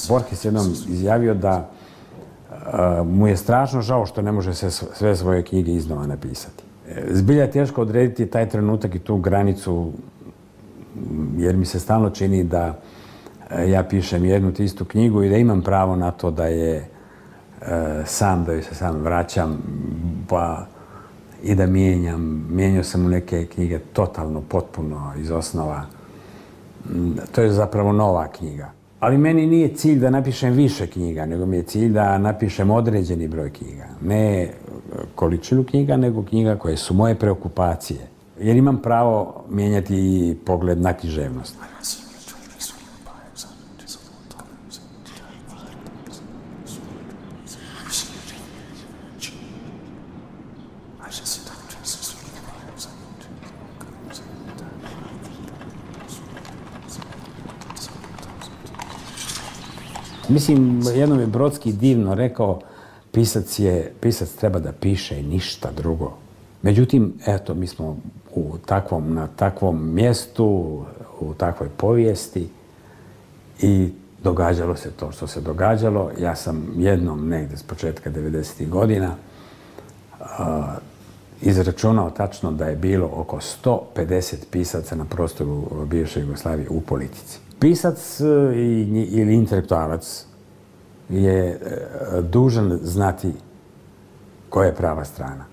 Borges jednom izjavio da mu je strašno žao što ne može sve svoje knjige iznova napisati. Zbilja je teško odrediti taj trenutak i tu granicu, jer mi se stalno čini da ja pišem jednu te istu knjigu i da imam pravo na to da je da joj se sam vraćam, pa i da mijenjam. Mijenjao sam u neke knjige totalno, potpuno iz osnova. To je zapravo nova knjiga. Ali meni nije cilj da napišem više knjiga, nego mi je cilj da napišem određeni broj knjiga. Ne količinu knjiga, nego knjiga koje su moje preokupacije. Jer imam pravo mijenjati i pogled na književnost. Mislim, jednom je Brodski divno rekao, pisac treba da piše ništa drugo. Međutim, eto, mi smo na takvom mjestu, u takvoj povijesti i događalo se to što se događalo. Ja sam jednom negdje s početka 90. godina izračunao tačno da je bilo oko 150 pisaca na prostoru bivše Jugoslavije u politici. Pisac ili intelektualac je dužan znati koja je prava strana.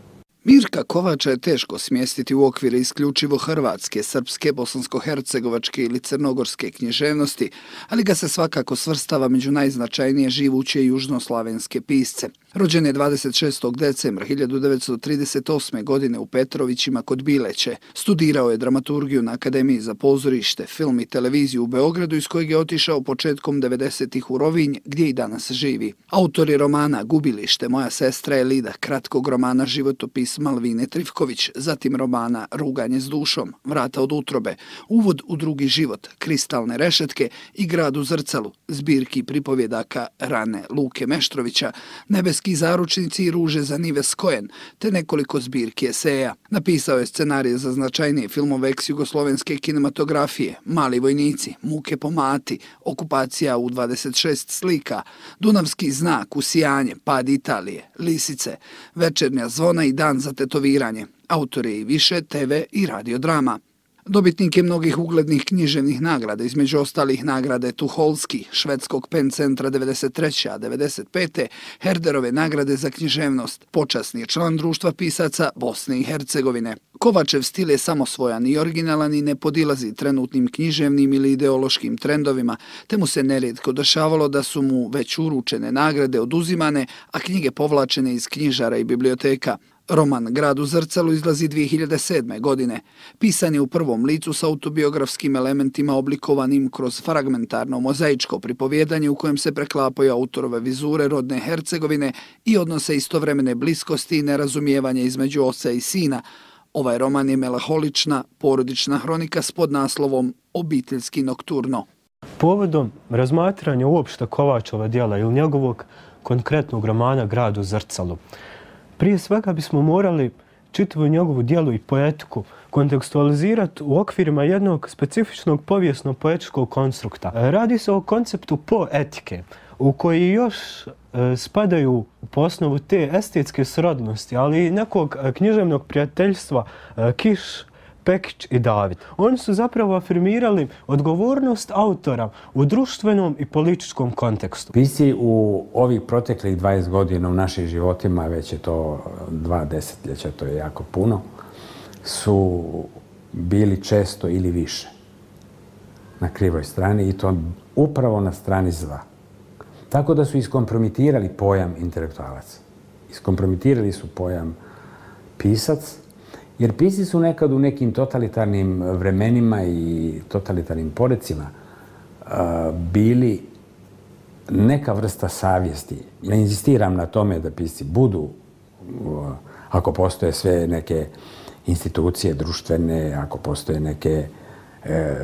Mirka Kovača je teško smjestiti u okvire isključivo hrvatske, srpske, bosansko-hercegovačke ili crnogorske književnosti, ali ga se svakako svrstava među najznačajnije živuće južnoslavenske pisce. Rođen je 26. decembra 1938. godine u Petrovićima kod Bileće. Studirao je dramaturgiju na Akademiji za pozorište, film i televiziju u Beogradu, iz kojeg je otišao početkom 90-ih u Rovinj, gdje i danas živi. Autor je romana Gubilište, Moja sestra Elida, kratkog romana Životopis Malvine Trifković, zatim romana Ruganje s dušom, Vrata od utrobe, Uvod u drugi život, Kristalne rešetke i Grad u zrcalu, zbirki pripovjedaka Rane Luke Meštrovića, Nebeski zaručnici i Ruže za Nives Kojen, te nekoliko zbirki eseja. Napisao je scenarije za značajnije filmove ex-jugoslovenske kinematografije, Mali vojnici, Muke po mati, Okupacija u 26 slika, Dunavski znak, Usijanje, Pad Italije, Lisice, Večernja zvona i Dan za tetoviranje. Autor je i više TV i radiodrama. Dobitnik je mnogih uglednih književnih nagrada, između ostalih nagrade Tuholski, švedskog PEN centra 93. a 95. Herderove nagrade za književnost, počasni je član društva pisaca Bosne i Hercegovine. Kovačev stil je samosvojan i originalan i ne podilazi trenutnim književnim ili ideološkim trendovima, te mu se nerijetko dešavalo da su mu već uručene nagrade oduzimane, a knjige povlačene iz knjižara i biblioteka. Roman Grad u zrcalu izlazi 2007. godine. Pisan je u prvom licu s autobiografskim elementima oblikovanim kroz fragmentarno mozaičko pripovjedanje u kojem se preklapaju autorove vizure rodne Hercegovine i odnose istovremene bliskosti i nerazumijevanja između oca i sina. Ovaj roman je melaholična, porodična hronika s podnaslovom Obiteljski nokturno. Povodom razmatranja uopšte Kovačova djela ili njegovog konkretnog romana Grad u zrcalu, prije svega bismo morali čitavu njegovu djelu i poetiku kontekstualizirati u okvirima jednog specifičnog povijesno-poetičkog konstrukta. Radi se o konceptu poetike, u koji još spadaju po osnovu te estetske srodnosti, ali i nekog književnog prijateljstva Kiš, Pekić i David. Oni su zapravo afirmirali odgovornost autora u društvenom i političkom kontekstu. Pisci u ovih proteklih 20 godina u našim životima, već je to 2 desetljeća, to je jako puno, su bili često ili više na krivoj strani i to upravo na strani zla. Tako da su iskompromitirali pojam intelektualac. Iskompromitirali su pojam pisac, jer pisci su nekad u nekim totalitarnim vremenima i totalitarnim porecima bili neka vrsta savjesti. Ne inzistiram na tome da pisci budu, ako postoje sve neke institucije društvene, ako postoje neke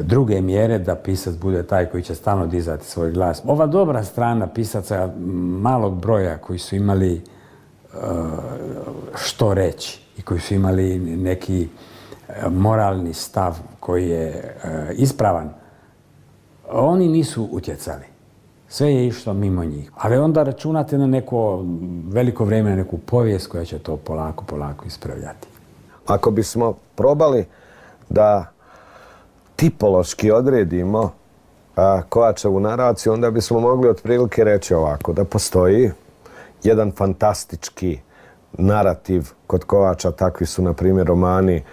druge mjere da pisac bude taj koji će stalno dizati svoj glas. Ova dobra strana pisaca malog broja koji su imali što reći i koji su imali neki moralni stav koji je ispravan, oni nisu utjecali. Sve je išlo mimo njih. Ali onda računate na neko veliko vrijeme, na neku povijest koja će to polako ispravljati. Ako bismo probali da tipološki odredimo Kovačevu naraciju, onda bismo mogli otprilike reći ovako, da postoji jedan fantastički narativ kod Kovača, takvi su na primjer romani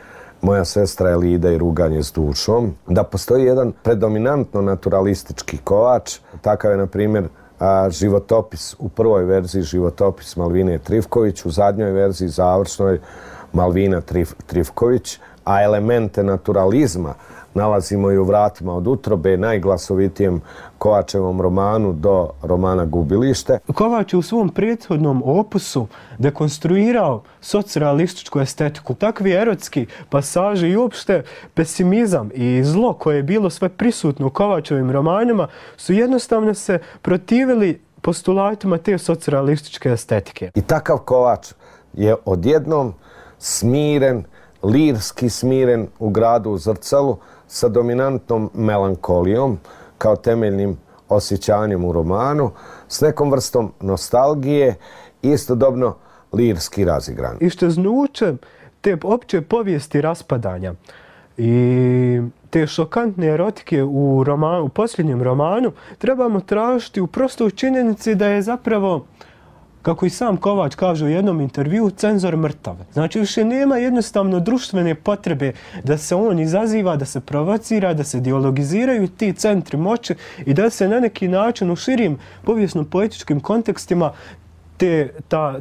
Moja sestra Elida i Ruganje s dušom, da postoji jedan predominantno naturalistički Kovač, takav je na primjer životopis, u prvoj verziji životopis Malvine Trifković, u zadnjoj verziji završnoj Malvina Trifković, a elemente naturalizma nalazimo i u Vratima od utrobe, najglasovitijem Kovačevom romanu do romana Gubilište. Kovač je u svom prethodnom opusu dekonstruirao socrealističku estetiku. Takvi erotski pasaži i uopšte pesimizam i zlo koje je bilo sve prisutno u Kovačevim romanima su jednostavno se protivili postulatima te socrealističke estetike. I takav Kovač je odjednom smiren, lirski smiren u gradu u Zrcalu sa dominantnom melankolijom kao temeljnim osjećanjem u romanu, s nekom vrstom nostalgije i istodobno lirski razigran. Iščeznuće te opće povijesti raspadanja i te šokantne erotike u posljednjem romanu trebamo tražiti u prostoj činjenici da je zapravo, kako i sam Kovač kaže u jednom intervjuu, cenzor mrtav. Znači više nema jednostavno društvene potrebe da se on izaziva, da se provocira, da se dialogiziraju ti centri moći i da se na neki način u širim povijesno-poetičkim kontekstima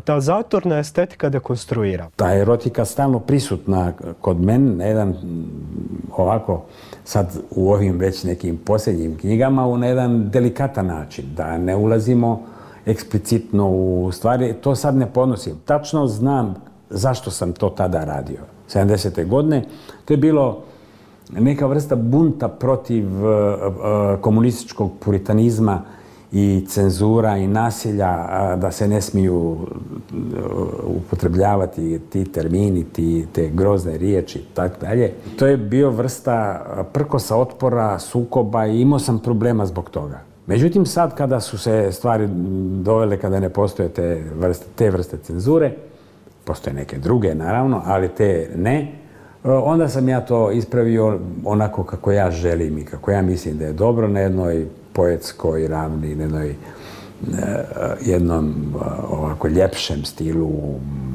ta zatorna estetika dekonstruira. Ta erotika stalno prisutna kod mene na jedan ovako, sad u ovim već nekim posljednjim knjigama, na jedan delikatan način, da ne ulazimo eksplicitno u stvari, to sad ne podnosim. Tačno znam zašto sam to tada radio. 70. godine. To je bilo neka vrsta bunta protiv komunističkog puritanizma i cenzura i nasilja, da se ne smiju upotrebljavati ti termini, te grozne riječi i tako dalje. To je bio vrsta prkosa, otpora, sukoba i imao sam problema zbog toga. Međutim, sad kada su se stvari dovele, kada ne postoje te vrste cenzure, postoje neke druge naravno, ali te ne, onda sam ja to ispravio onako kako ja želim i kako ja mislim da je dobro, na jednoj poetskoj ravni, na jednom ovako ljepšem stilu,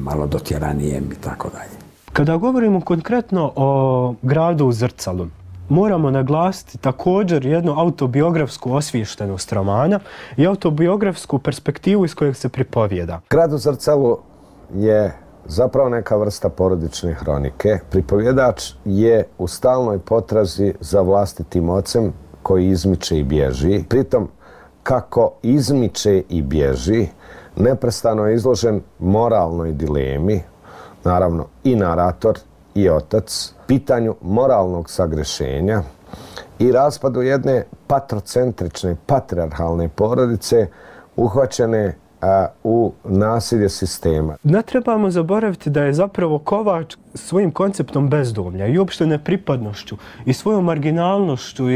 malo dotjeranijem i tako dalje. Kada govorimo konkretno o gradu u Zrcalu, moramo naglasiti također jednu autobiografsku osviještenost romana i autobiografsku perspektivu iz kojeg se pripovijeda. Grad u Zrcalu je zapravo neka vrsta porodične hronike. Pripovjedač je u stalnoj potrazi za vlastitim ocem koji izmiče i bježi. Pritom, kako izmiče i bježi, neprestano je izložen moralnoj dilemi, naravno i narator i otac, pitanju moralnog sagrešenja i raspadu jedne patrocentrične, patrijarhalne porodice uhvaćene u nasilje sistema. Ne trebamo zaboraviti da je zapravo Kovač svojim konceptom bezdomlja i uopšte nepripadnošću i svojom marginalnošću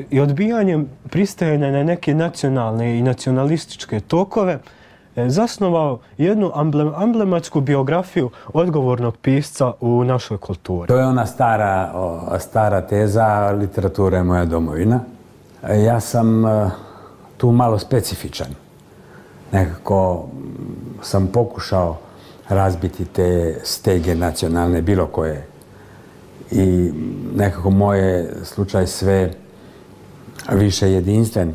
i odbijanjem pristajanja na neke nacionalne i nacionalističke tokove zasnovao jednu amblematsku biografiju odgovornog pisca u našoj kulturi. To je ona stara teza, literatura je moja domovina. Ja sam tu malo specifičan. Nekako sam pokušao razbiti te stege nacionalne, bilo koje. I nekako moj slučaj sve više jedinstven.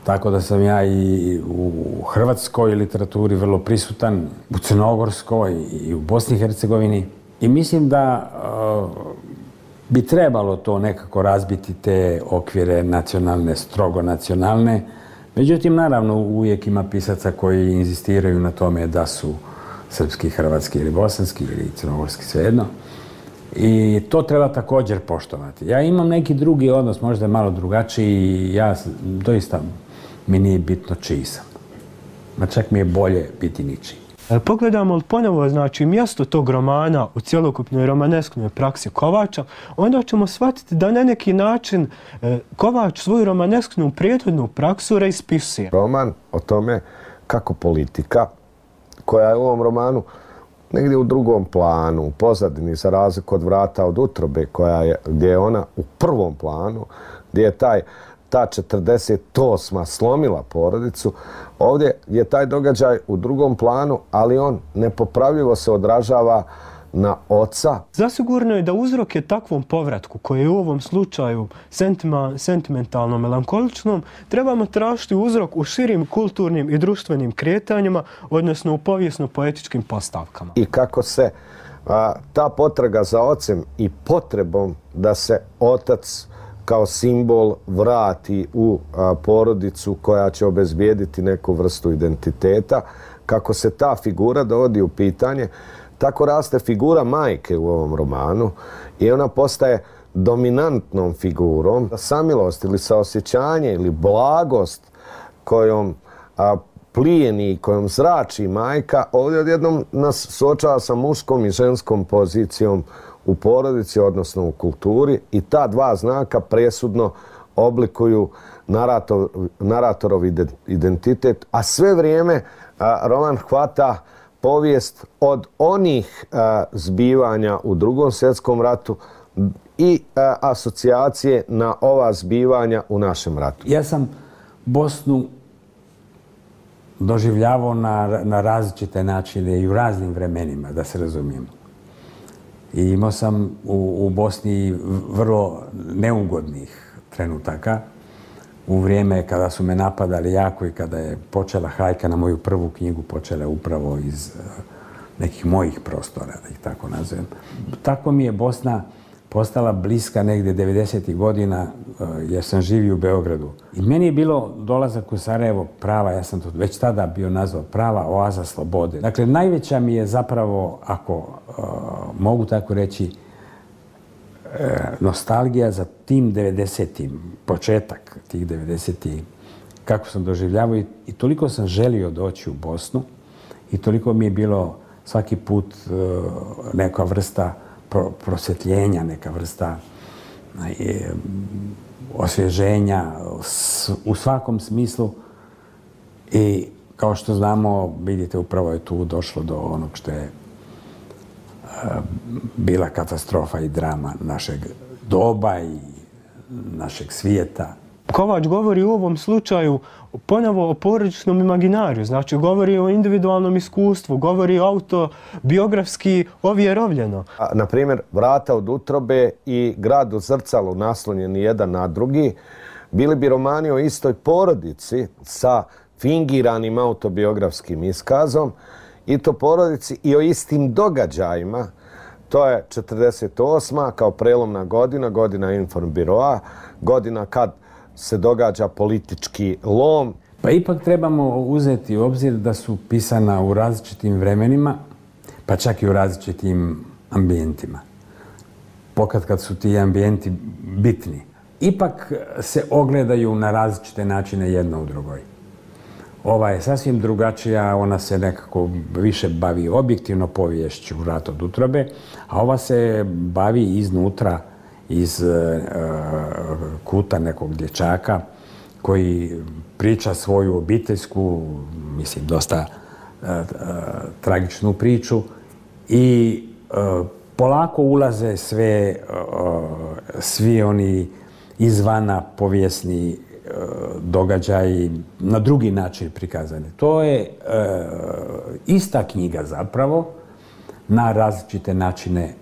Tako da sam ja i u hrvatskoj literaturi vrlo prisutan, u crnogorskoj i u Bosni i Hercegovini. I mislim da bi trebalo to nekako razbiti, te okvire nacionalne, strogo nacionalne. Međutim, naravno, uvijek ima pisaca koji inzistiraju na tome da su srpski, hrvatski ili bosanski ili crnogorski, svejedno. I to treba također poštovati. Ja imam neki drugi odnos, možda malo drugačiji, i ja doista mi nije bitno čiji sam. Ma čak mi je bolje biti ničiji. Pogledamo li ponovo, znači, mjesto tog romana u cjelokupnoj romanesknoj praksi Kovača, onda ćemo shvatiti da na neki način Kovač svoju romanesknu prethodnu praksu reispisuje. Roman o tome kako politika, koja je u ovom romanu negdje u drugom planu, u pozadini, za razliku od Vrata od utrobe, gdje je ona u prvom planu, gdje je ta 48. slomila porodicu. Ovdje je taj događaj u drugom planu, ali on nepopravljivo se odražava na oca. Zasigurno je da uzrok je takvom povratku, koji je u ovom slučaju sentimentalno melankoličnom, trebamo tražiti uzrok u širim kulturnim i društvenim kretanjima, odnosno u povijesno-poetičkim postavkama. I kako se ta potraga za ocem i potrebom da se otac kao simbol vrati u porodicu koja će obezbijediti neku vrstu identiteta, kako se ta figura dovodi u pitanje, tako raste figura majke u ovom romanu i ona postaje dominantnom figurom. Samilost ili saosjećanje ili blagost kojom plijeni i kojom zrači majka, ovdje odjednom nas suočava sa muškom i ženskom pozicijom u porodici, odnosno u kulturi, i ta dva znaka presudno oblikuju naratorov identitet, a sve vrijeme roman hvata povijest od onih zbivanja u Drugom svjetskom ratu i asocijacije na ova zbivanja u našem ratu. Ja sam Bosnu doživljavao na različite načine i u raznim vremenima, da se razumijemo. I imao sam u Bosni vrlo neugodnih trenutaka u vrijeme kada su me napadali jako i kada je počela hajka na moju prvu knjigu, počela upravo iz nekih mojih prostora, da ih tako nazovem. Tako mi je Bosna postala bliska negdje 90. godina, jer sam živio u Beogradu. I meni je bilo dolazak u Sarajevo prava, ja sam to već tada bio nazvao, prava oaza slobode. Dakle, najveća mi je zapravo, ako mogu tako reći, nostalgija za tim 90-im, početak tih 90-ih, kako sam doživljavao i toliko sam želio doći u Bosnu i toliko mi je bilo svaki put neka vrsta prosvjetljenja, neka vrsta osvježenja u svakom smislu. I kao što znamo, vidite, upravo je tu došlo do onog što je bila katastrofa i drama našeg doba i našeg svijeta. Kovač govori u ovom slučaju ponovo o porodičnom imaginariju, znači govori o individualnom iskustvu, govori autobiografski ovjerovljeno. Na primjer, Vrata od utrobe i Grad u zrcalu, naslonjeni jedan na drugi, bili bi romani o istoj porodici sa fingiranim autobiografskim iskazom, i to porodici i o istim događajima. To je 48. kao prelomna godina, godina Informbiroa, godina kad se događa politički lom. Pa ipak trebamo uzeti u obzir da su pisana u različitim vremenima, pa čak i u različitim ambijentima. Pokad su ti ambijenti bitni, ipak se ogledaju na različite načine jedno u drugoj. Ova je sasvim drugačija, ona se nekako više bavi objektivno poviješću Vrat od utrobe, a ova se bavi iznutra, iz kuta nekog dječaka koji priča svoju obiteljsku, mislim, dosta tragičnu priču i polako ulaze svi oni izvana povijesni događaji na drugi način prikazani. To je ista knjiga zapravo, na različite načine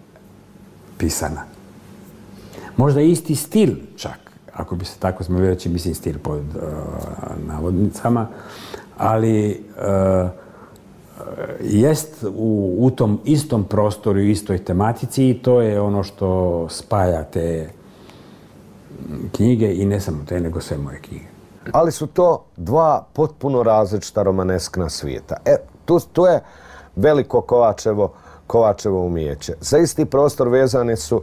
pisana. Možda isti stil čak, ako bi se tako smjeli reći, mislim stil pod navodnicama, ali jest u tom istom prostoru i istoj tematici i to je ono što spaja te knjige i ne samo te, nego sve moje knjige. Ali su to dva potpuno različita romaneskna svijeta. Tu je veliko Kovačevo umijeće. Za isti prostor vezane su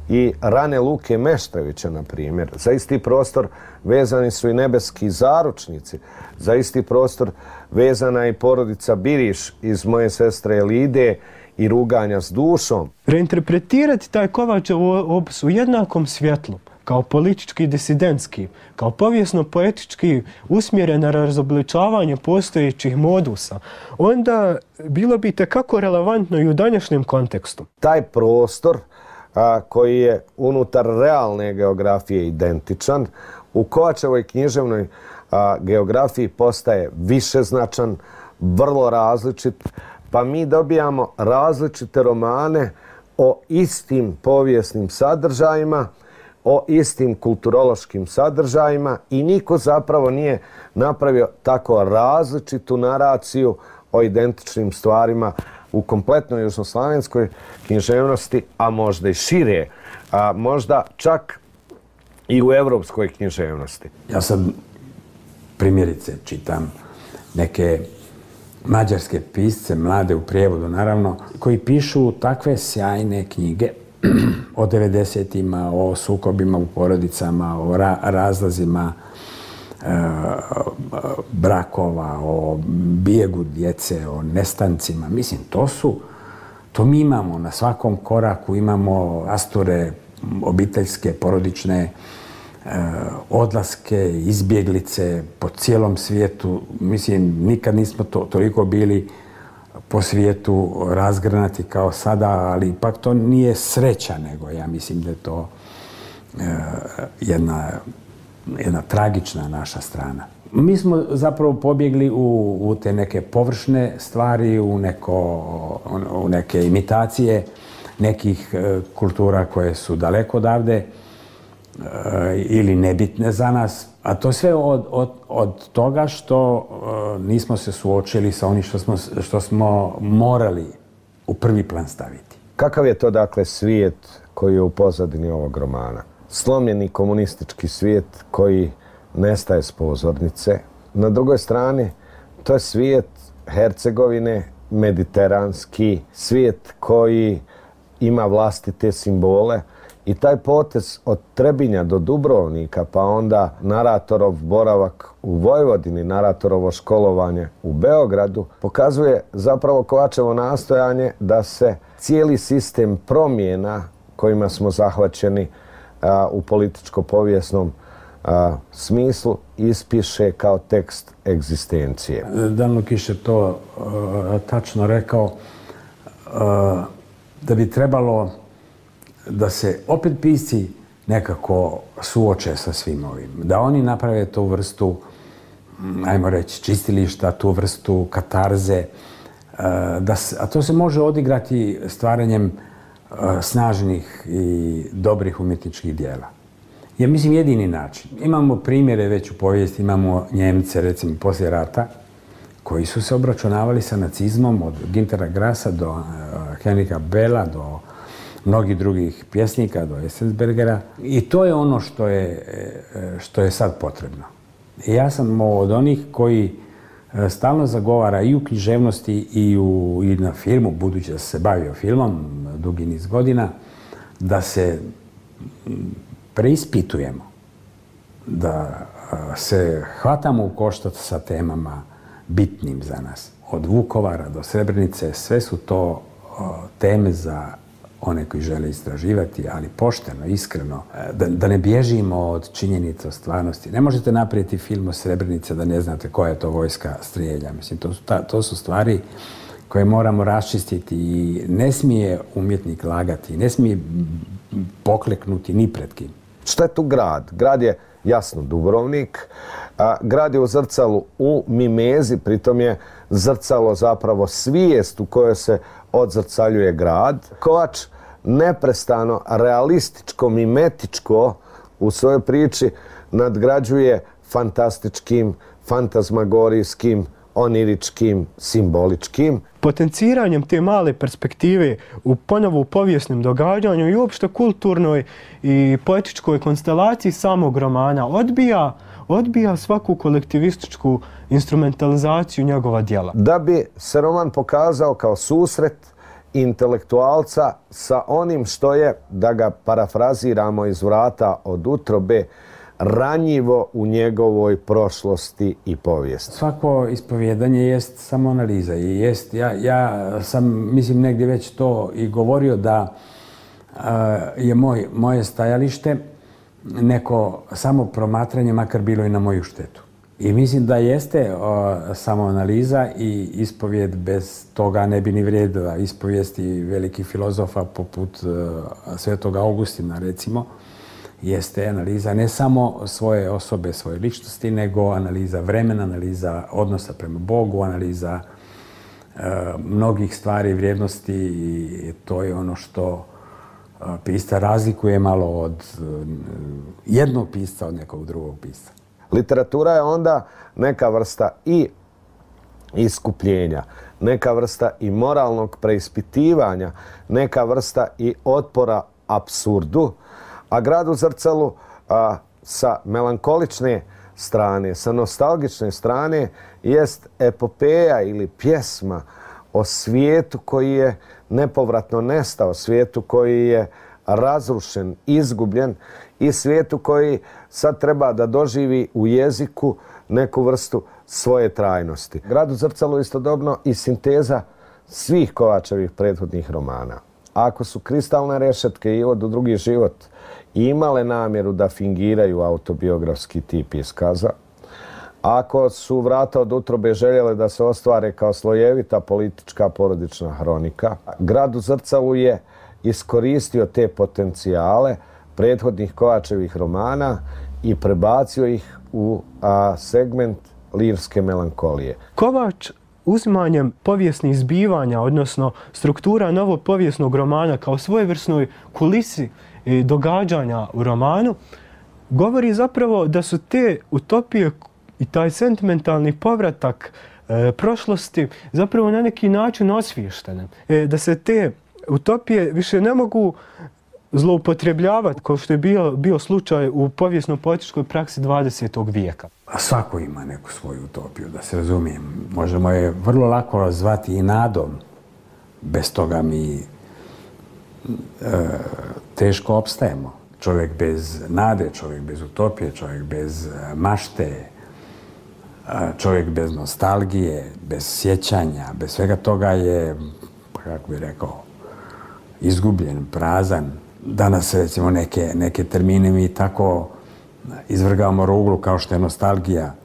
i rane Luke Meštrovića, na primjer. Za isti prostor vezani su i nebeski zaručnici. Za isti prostor vezana je i porodica Biriš iz Moje sestre Elide i Ruganja s dušom. Reinterpretirati taj Kovačev opus u jednakom svjetlu, kao politički disidentski, kao povijesno-poetički usmjeren na razobličavanje postojećih modusa, onda bilo bi itekako relevantno i u današnjem kontekstu. Taj prostor koji je unutar realne geografije identičan, u Kovačevoj književnoj geografiji postaje višeznačan, vrlo različit, pa mi dobijamo različite romane o istim povijesnim sadržajima, o istim kulturološkim sadržajima i niko zapravo nije napravio tako različitu naraciju o identičnim stvarima u kompletnoj južnoslavenskoj književnosti, a možda i šire, a možda čak i u evropskoj književnosti. Ja sad primjerice čitam neke mađarske pisce, mlade u prijevodu naravno, koji pišu takve sjajne knjige o 90-ima, o sukobima u porodicama, o razlazima brakova, o bijegu djece, o nestancima. Mislim, to mi imamo na svakom koraku, imamo rasture obiteljske, porodične, odlaske, izbjeglice po cijelom svijetu. Mislim, nikad nismo toliko bili po svijetu razgranati kao sada, ali ipak to nije sreća, nego ja mislim da je to jedna tragična naša strana. Mi smo zapravo pobjegli u te neke površne stvari, u neke imitacije nekih kultura koje su daleko odavde ili nebitne za nas. A to sve od toga što nismo se suočili sa onim što smo morali u prvi plan staviti. Kakav je to, dakle, svijet koji je u pozadini ovog romana? Slomljeni komunistički svijet koji nestaje s pozornice. Na drugoj strani, to je svijet Hercegovine, mediteranski, svijet koji ima vlastite simbole. I taj potez od Trebinja do Dubrovnika, pa onda naratorov boravak u Vojvodini, naratorovo školovanje u Beogradu, pokazuje zapravo Kovačevo nastojanje da se cijeli sistem promjena kojima smo zahvaćeni u političko-povijesnom smislu ispiše kao tekst egzistencije. Dan Lukiš je to tačno rekao, da bi trebalo da se opet pisci nekako suoče sa svim ovim. Da oni naprave tu vrstu, ajmo reći, čistilišta, tu vrstu katarze. A to se može odigrati stvaranjem snažnih i dobrih umjetničkih dijela. Ja mislim jedini način. Imamo primjere već u povijesti, imamo Njemce, recimo, poslije rata, koji su se obračunavali sa nacizmom od Güntera Grassa do Henrika Bella, do mnogih drugih pjesnika, do Essensbergera. I to je ono što je sad potrebno. I ja sam od onih koji stalno zagovara i u književnosti i na filmu, budući da se bavio filmom dugi niz godina, da se preispitujemo, da se hvatamo u koštac sa temama bitnim za nas. Od Vukovara do Srebrenice, sve su to teme za one koji žele istraživati, ali pošteno, iskreno, da ne bježimo od činjenica o stvarnosti. Ne možete napraviti film o Srebrenici da ne znate koja je to vojska strijelja. Mislim, to su stvari koje moramo raščistiti i ne smije umjetnik lagati, ne smije pokleknuti ni pred kim. Šta je tu grad? Grad je, jasno, Dubrovnik. Grad je u zrcalu u mimezi, pritom je zrcalo zapravo svijest u kojoj se odzrcaljuje grad. Kovač neprestano, realističko, mimetičko u svojoj priči nadgrađuje fantastičkim, fantazmagorijskim, oniričkim, simboličkim. Potenciranjem te male perspektive u ponovo povijesnom događanju i uopšte kulturnoj i poetičkoj konstelaciji samog romana odbija svaku kolektivističku instrumentalizaciju njegova djela. Da bi se roman pokazao kao susret intelektualca sa onim što je, da ga parafraziramo iz vrata od utrobe, ranjivo u njegovoj prošlosti i povijesti. Svako ispovjedanje jest samoanaliza i jest, ja sam, mislim, negdje već to i govorio da je moje stajalište neko samo promatranje, makar bilo i na moju štetu. I mislim da jeste samoanaliza i ispovijed, bez toga ne bi ni vrijedila ispovijesti velikih filozofa poput Svetoga Augustina, recimo, jeste analiza ne samo svoje osobe, svoje ličnosti, nego analiza vremena, analiza odnosa prema Bogu, analiza mnogih stvari, vrijednosti, i to je ono što pisca razlikuje malo od jednog pisca od nekog drugog pisca. Literatura je onda neka vrsta i iskupljenja, neka vrsta i moralnog preispitivanja, neka vrsta i otpora apsurdu, a Grad u zrcalu sa melankolične strane, sa nostalgične strane, jest epopeja ili pjesma o svijetu koji je nepovratno nestao, svijetu koji je razrušen, izgubljen i svijetu koji sad treba da doživi u jeziku neku vrstu svoje trajnosti. Grad u zrcalu istodobno i sinteza svih Kovačevih prethodnih romana. Ako su Kristalne rešetke i Od u drugi život imale namjeru da fingiraju autobiografski tip iskaza, ako su Vrata od utrobe željele da se ostvare kao slojevita politička porodična hronika, Grad u zrcalu je iskoristio te potencijale prethodnih Kovačevih romana i prebacio ih u segment lirske melankolije. Kovač uzimanjem povijesnih zbivanja, odnosno struktura novog povijesnog romana kao svojevrsnoj kulisi događanja u romanu, govori zapravo da su te utopije i taj sentimentalni povratak prošlosti zapravo na neki način osviještene. Da se te utopije više ne mogu zloupotrebljavati, kao što je bio slučaj u povijesno-političkoj praksi 20. vijeka. A svako ima neku svoju utopiju, da se razumijem. Možemo je vrlo lako zvati i nadom. Bez toga mi teško opstajemo. Čovjek bez nade, čovjek bez utopije, čovjek bez mašte, čovjek bez nostalgije, bez sjećanja, bez svega toga je, kako bih rekao, izgubljen, prazan. Danas, recimo, neke termine mi tako izvrgavamo ruglu kao što je nostalgija.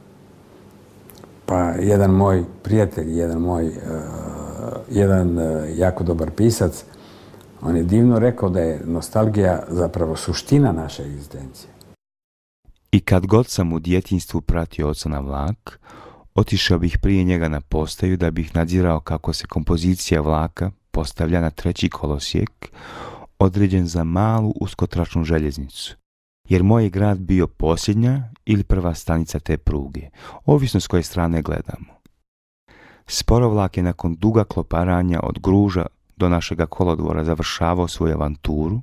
Pa jedan moj prijatelj, jedan jako dobar pisac, on je divno rekao da je nostalgija zapravo suština naše egzistencije. I kad god sam u djetinjstvu pratio oca na vlak, otišao bih prije njega na postaju da bih nadzirao kako se kompozicija vlaka postavlja na treći kolosijek, određen za malu uskotračnu željeznicu. Jer moj je grad bio posljednja ili prva stanica te pruge, ovisno s koje strane gledamo. Sporovlak je nakon duga kloparanja od Gruža do našega kolodvora završavao svoju avanturu,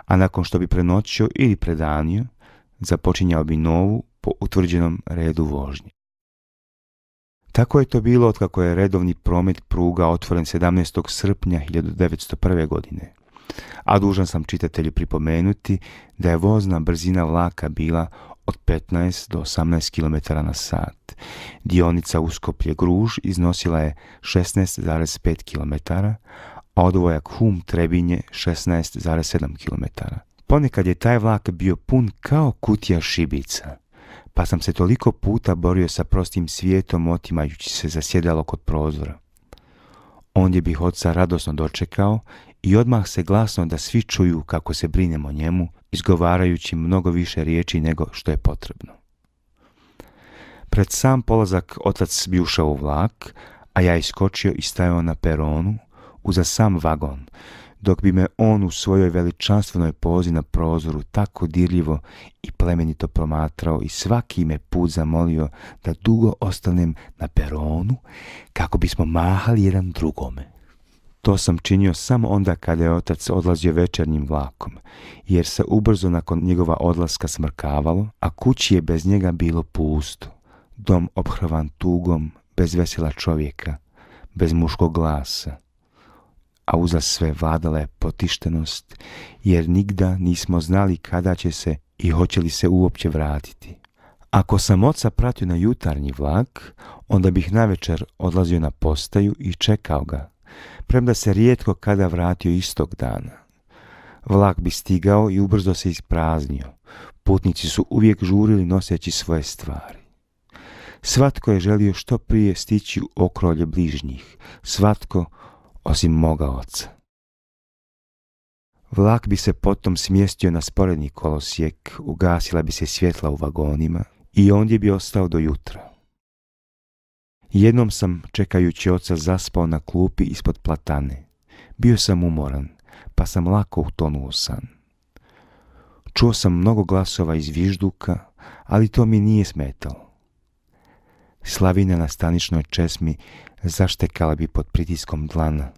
a nakon što bi prenoćio ili predanio, započinjao bi novu po utvrđenom redu vožnje. Tako je to bilo otkako je redovni promet pruga otvoren 17. srpnja 1901. godine. A dužan sam čitatelju pripomenuti da je vozna brzina vlaka bila od 15 do 18 km na sat. Dionica Uskoplje-Gruž iznosila je 16,5 km, a odvojak Hum-Trebinje 16,7 km. Ponekad je taj vlak bio pun kao kutija šibica, pa sam se toliko puta borio sa prostim svijetom otimajući se za sjedalo kod prozora. Ondje bih oca radosno dočekao i odmah se glasno da svi čuju kako se brinem o njemu, izgovarajući mnogo više riječi nego što je potrebno. Pred sam polazak otac bi ušao u vlak, a ja iskočio i stajao na peronu, uza sam vagon, dok bi me on u svojoj veličanstvenoj pozi na prozoru tako dirljivo i plemenito promatrao i svaki me put zamolio da dugo ostanem na peronu kako bismo mahali jedan drugome. To sam činio samo onda kada je otac odlazio večernjim vlakom, jer se ubrzo nakon njegova odlaska smrkavalo, a kući je bez njega bilo pusto, dom ophrvan tugom, bez vesela čovjeka, bez muškog glasa. a uza sve vladala je potištenost, jer nigda nismo znali kada će se i hoće li se uopće vratiti. Ako sam oca pratio na jutarnji vlak, onda bih navečer odlazio na postaju i čekao ga, premda se rijetko kada vratio istog dana. Vlak bi stigao i ubrzo se ispraznio. Putnici su uvijek žurili noseći svoje stvari. Svatko je želio što prije stići u okrolje bližnjih, svatko osim moga oca. Vlak bi se potom smjestio na sporedni kolosijek, ugasila bi se svjetla u vagonima i ondje bi ostao do jutra. Jednom sam, čekajući oca, zaspao na klupi ispod platane. Bio sam umoran, pa sam lako utonuo u san. Čuo sam mnogo glasova iz vižduka, ali to mi nije smetalo. Slavina na staničnoj česmi zaštekala bi pod pritiskom dlana,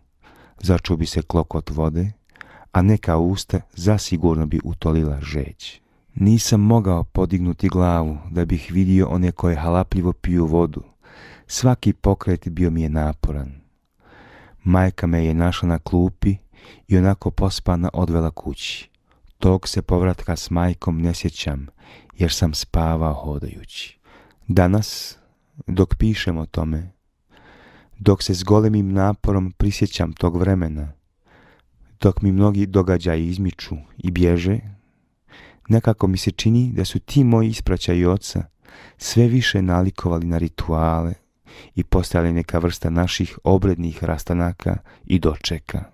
začuo bi se klokot vode, a neka usta zasigurno bi utolila žeć. Nisam mogao podignuti glavu da bih vidio one koje halapljivo piju vodu. Svaki pokret bio mi je naporan. Majka me je našla na klupi i onako pospana odvela kući. Tog se povratka s majkom ne sjećam, jer sam spavao hodajući. Danas, dok pišem o tome, dok se s golemim naporom prisjećam tog vremena, dok mi mnogi događaji izmiču i bježe, nekako mi se čini da su ti moji ispraćaji oca sve više nalikovali na rituale i postali neka vrsta naših obrednih rastanaka i dočeka.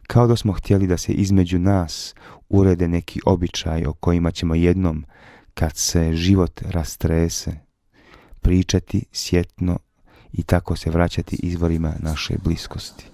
Kao da smo htjeli da se između nas urede neki običaj o kojima ćemo jednom, kad se život rastrese, pričati sjetno i tako se vraćati izvorima naše bliskosti.